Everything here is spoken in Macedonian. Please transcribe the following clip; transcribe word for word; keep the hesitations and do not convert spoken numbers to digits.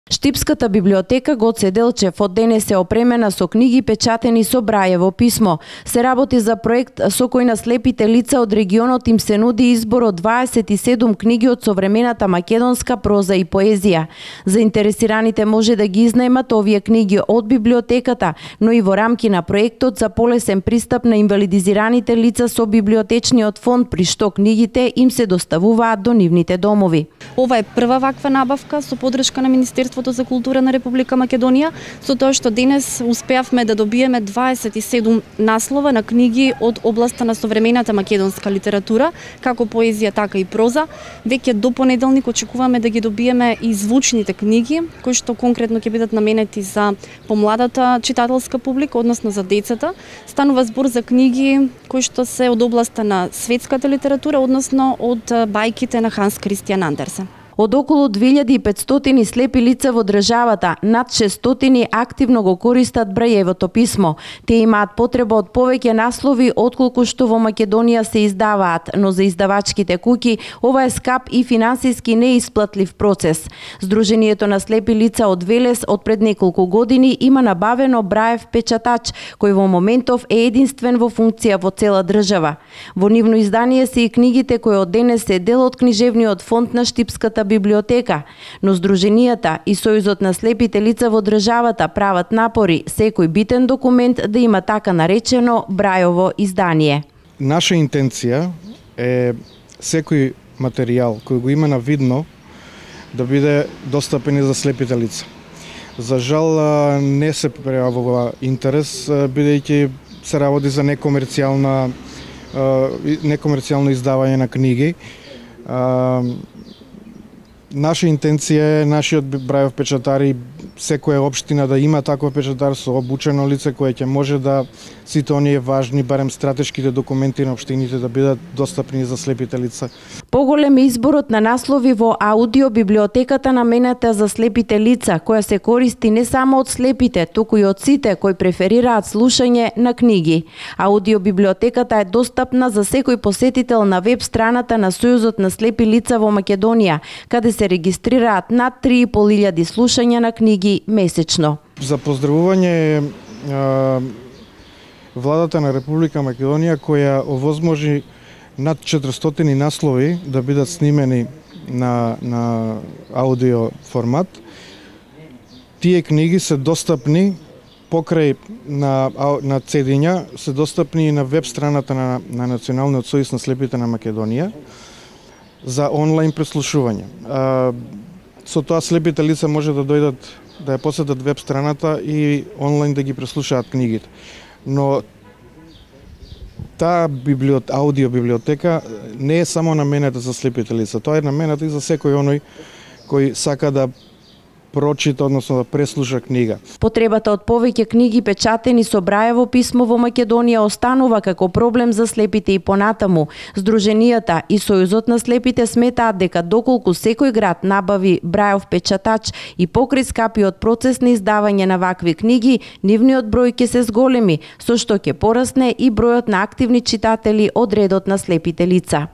Штипската библиотека Гоце Делчев од денес е опремена со книги печатени со Брајево писмо. Се работи за проект со кој на слепите лица од регионот им се нуди избор од дваесет и седум книги од современата македонска проза и поезија. Заинтересираните може да ги изнајмат овие книги од библиотеката, но и во рамки на проектот за полесен пристап на инвалидизираните лица со библиотечниот фонд, при што книгите им се доставуваат до нивните домови. Ова е прва ваква набавка со подршка на Министерството за култура на Република Македонија, со тоа што денес успеавме да добиеме дваесет и седум наслова на книги од областа на современата македонска литература, како поезија, така и проза. Веќе до понеделник очекуваме да ги добиеме и звучните книги, кои што конкретно ќе бидат наменети за помладата читателска публика, односно за децата. Станува збор за книги кои што се од областа на светската литература, односно од бајките на Ханс Кристијан Андерсен. Од околу две илјади и петстотини слепи лица во државата, над шестстотини активно го користат Брајевото писмо. Тие имаат потреба од повеќе наслови отколку што во Македонија се издаваат, но за издавачките куќи ова е скап и финансиски неисплатлив процес. Сдруженијето на слепи лица од Велес од пред неколку години има набавено Браев печатач, кој во моментов е единствен во функција во цела држава. Во нивно издание се и книгите кои од денес се дел од книжевниот фонд на Штипската библиотека, но Сдруженијата и Сојузот на слепите лица во државата прават напори секој битен документ да има така наречено Брајово издание. Наша интенција е секој материјал кој го има на видно да биде достапен и за слепите лица. За жал не се пројавува интерес, бидејќи се работи за некомерцијална некомерцијално издавање на книги. Наша интенција е нашиот Брајов печатар и секоја општина да има таков печатар со обучено лице кое ќе може да сите оние важни, барем стратешките документи на општините да бидат достапни за слепите лица. Поголем е изборот на наслови во аудио библиотеката наменета за слепите лица, која се користи не само од слепите, туку и од сите кои преферираат слушање на книги. Аудио библиотеката е достапна за секој посетител на веб страната на Сојузот на слепи лица во Македонија, каде се регистрираат над три и пол илјади слушања на книги месечно. За поздравување владата на Република Македонија која овозможи над четиристотини наслови да бидат снимени на, на аудио формат. Тие книги се достапни покрај на, на цедиња, се достапни и на веб страната на, на Националниот сојуз на слепите на Македонија за онлайн преслушување. А, со тоа слепите лица може да дојдат да ја посетат веб страната и онлайн да ги преслушаат книгите. Но таа библиот, аудио библиотека не е само наменета за слепите лица, тоа е наменета и за секој оној кој сака да прочита, односно да преслуша книга. Потребата од повеќе книги печатени со Брајево писмо во Македонија останува како проблем за слепите и понатаму. Сдруженијата и Сојузот на слепите сметаат дека доколку секој град набави Брајов печатач и покрај скапиот процес на издавање на вакви книги, нивниот број ќе се зголеми, со што ќе порасне и бројот на активни читатели од редот на слепите лица.